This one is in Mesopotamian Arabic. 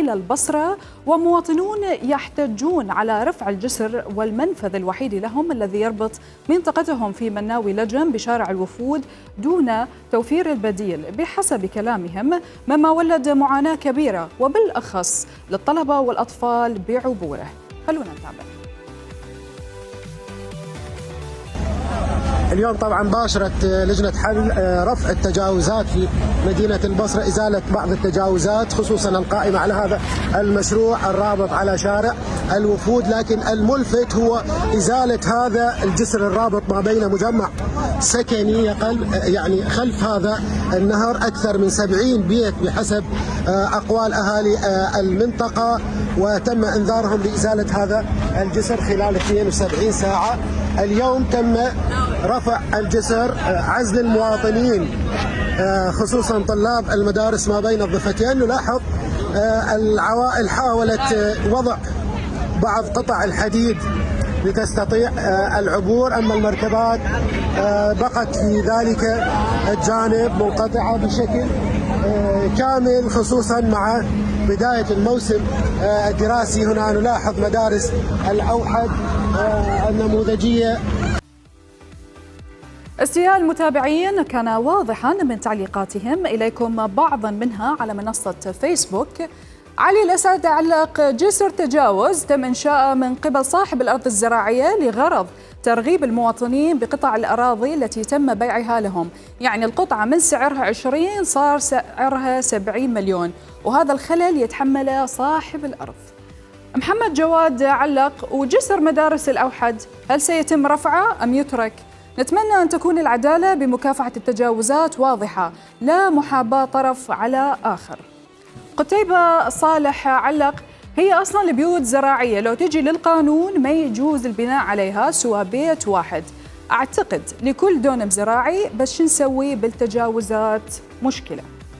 إلى البصرة، ومواطنون يحتجون على رفع الجسر والمنفذ الوحيد لهم الذي يربط منطقتهم في مناوي لجم بشارع الوفود دون توفير البديل بحسب كلامهم، مما ولد معاناة كبيرة وبالأخص للطلبة والأطفال بعبوره. خلونا نتابع. اليوم طبعا باشرت لجنة حل رفع التجاوزات في مدينة البصرة، إزالة بعض التجاوزات خصوصا القائمة على هذا المشروع الرابط على شارع الوفود، لكن الملفت هو إزالة هذا الجسر الرابط ما بين مجمع سكني يعني خلف هذا النهر أكثر من 70 بيت بحسب أقوال أهالي المنطقة، وتم إنذارهم بإزالة هذا الجسر خلال 72 ساعة. اليوم تم رفع الجسر، عزل المواطنين خصوصا طلاب المدارس ما بين الضفتين. نلاحظ العوائل حاولت وضع بعض قطع الحديد لتستطيع العبور، أما المركبات بقت في ذلك الجانب منقطعة بشكل كامل، خصوصا مع بداية الموسم الدراسي. هنا نلاحظ مدارس الأوحد النموذجية. استياء المتابعين كان واضحا من تعليقاتهم إليكم، بعضا منها على منصة فيسبوك. علي الأسد علق: جسر تجاوز تم إنشاءه من قبل صاحب الأرض الزراعية لغرض ترغيب المواطنين بقطع الأراضي التي تم بيعها لهم، يعني القطعة من سعرها 20 صار سعرها 70 مليون، وهذا الخلل يتحمله صاحب الأرض. محمد جواد علق: وجسر مدارس الأوحد هل سيتم رفعه أم يترك؟ نتمنى أن تكون العدالة بمكافحة التجاوزات واضحة، لا محاباة طرف على آخر. قتيبة صالح علق: هي أصلا البيوت زراعية، لو تجي للقانون ما يجوز البناء عليها سوى بيت واحد، أعتقد لكل دونم زراعي، بس شو نسوي بالتجاوزات؟ مشكلة.